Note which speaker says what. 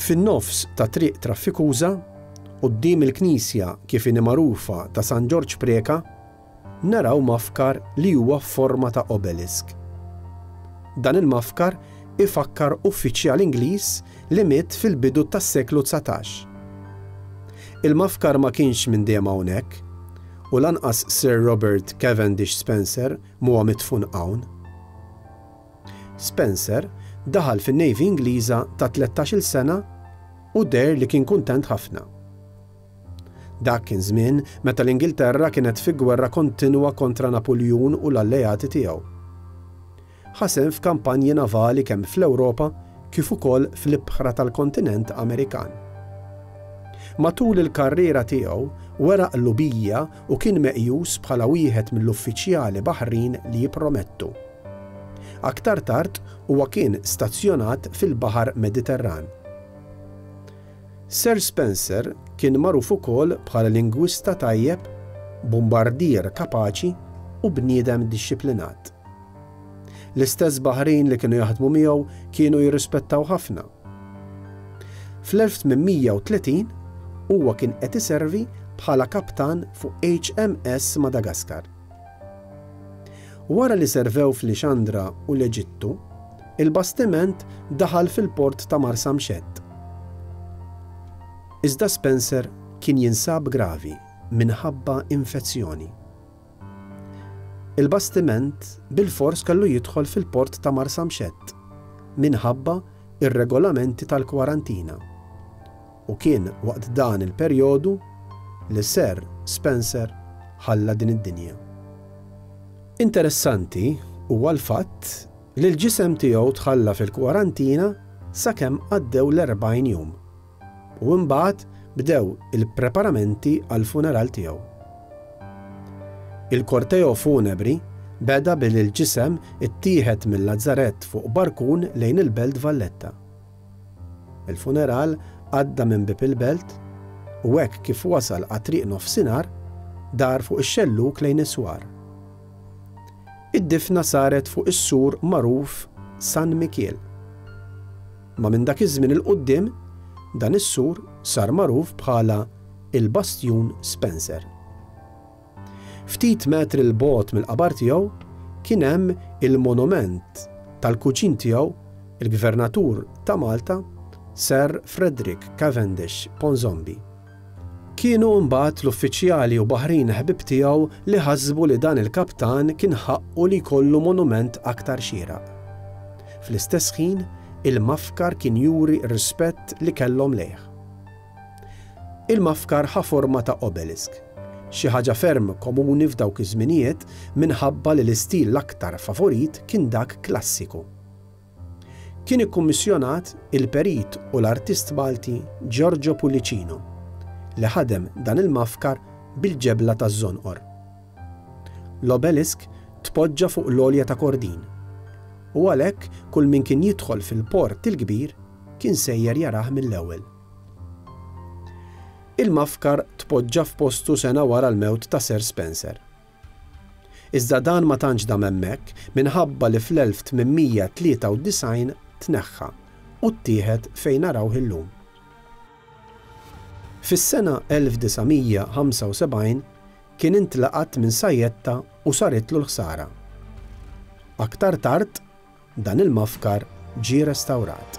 Speaker 1: Fin-nofs ta' triq traffikuża, quddiem il-knisja kif inhi magħrufa ta' San Ġorġ Preca, naraw mafkar li huwa f'forma ta' obelisk. Dan il-mafkar ifakkar uffiċjal Ingliż li miet fil-bidu tas-seklu 19. Il-mafkar ma kienx minn dejjem hawnhekk, u lanqas Sir Robert Cavendish Spencer m'huwa midfun hawn. Spencer daħal fin-Navy Ingliża ta' 13-il sena u deher li kien kuntent ħafna. Dak kien żmien meta l-Ingilterra kienet fi gwerra kontinwa kontra Napuljun u l-alleati tiegħu. Ħa sehem f'kampanji navali kemm fl-Ewropa kif ukoll fl-ibħra tal-kontinent Amerikan. Matul il-karriera tiegħu wera qlubija u kien meqjus bħala wieħed mill-uffiċjali baħrin li jippromettu. Aktar tard huwa kien stazzjonat fil-Baħar Mediterran. Sir Spencer kien magħruf ukoll bħala lingwista tajjeb, bombardier kapaċi u bniedem dixxiplinat. L-istess baħrin li kienu jaħdmu miegħu kienu jirrispettaw ħafna. Fl-1830 huwa kien qed iservi bħala kaptan fuq HMS Madagascar. Wara li servew f'Lixandra u l-Eġittu, il-bastiment daħal fil-port ta' Marsamxett. Iżda Spencer kien jinsab gravi minħabba infezzjoni. Il-bastiment bilfors kellu jidħol fil-port ta' Marsamxett minħabba r-regolamenti tal-kwarantina. U kien waqt dan il-perjodu li Sir Spencer ħalla din id-dinja. Interessanti huwa l-fatt li l-ġisem tiegħu tħalla fil-kwarantina sakemm għaddew l-40 jum u imbagħad bdew il-preparamenti għall-funeral tiegħu. Il-korteo funebri beda billi l-ġisem ittieħed mil-lazzarett fuq barkun lejn il-Belt Valletta. Il-funeral għadda minn bieb il-belt u hekk kif wasal għat-triq nofsinhar, dar fuq ix-xellug lejn is-swar. Id-difna saret fuq is-sur magħruf San Mikiel. Ma minn dak iż-żmien 'il quddiem, dan is-sur sar magħruf bħala il-Bastjun Spencer. Ftit metri 'l bogħod mill-qabar tiegħu kien hemm il-monument tal-kuġin tiegħu, il-Gvernatur ta' Malta, Sir Frederick Cavendish Ponsonby. Kienu mbagħad l-uffiċjali u baħrin ħbieb tiegħu li ħasbu li dan il-kaptan kien ħaqqu li jkollu monument aktar xieraq. Fl-istess ħin, il-mafkar kien juri r-rispett li kellhom lejh. Il-mafkar ħa forma ta' obelisk, xi ħaġa ferm komuni f'dawk iż-żminijiet minħabba li l-istil l-aktar favorit kien dak klassiku. Kien ikkummissjonat il-perit u l-artist Malti Giorgio Pullicino li ħadem dan il-mafkar bil-ġebla taż-żonqor. L-obelisk tpoġġa fuq l-għolja ta' Kordin u għalhekk kull min kien jidħol fil-Port il-Kbir kien sejjer jarah mill-ewwel. Il-mafkar tpoġġa f'postu sena wara l-mewt ta' Sir Spencer. Iżda dan ma tantx dam hemmhekk minħabba li fl-1893 tneħħa u ttieħed fejn narawh illum. Fis-sena 1975 kien intlaqat minn sajjetta u saritlu l-ħsara. Aktar tard, Dan il-mafkar ġie restawrat.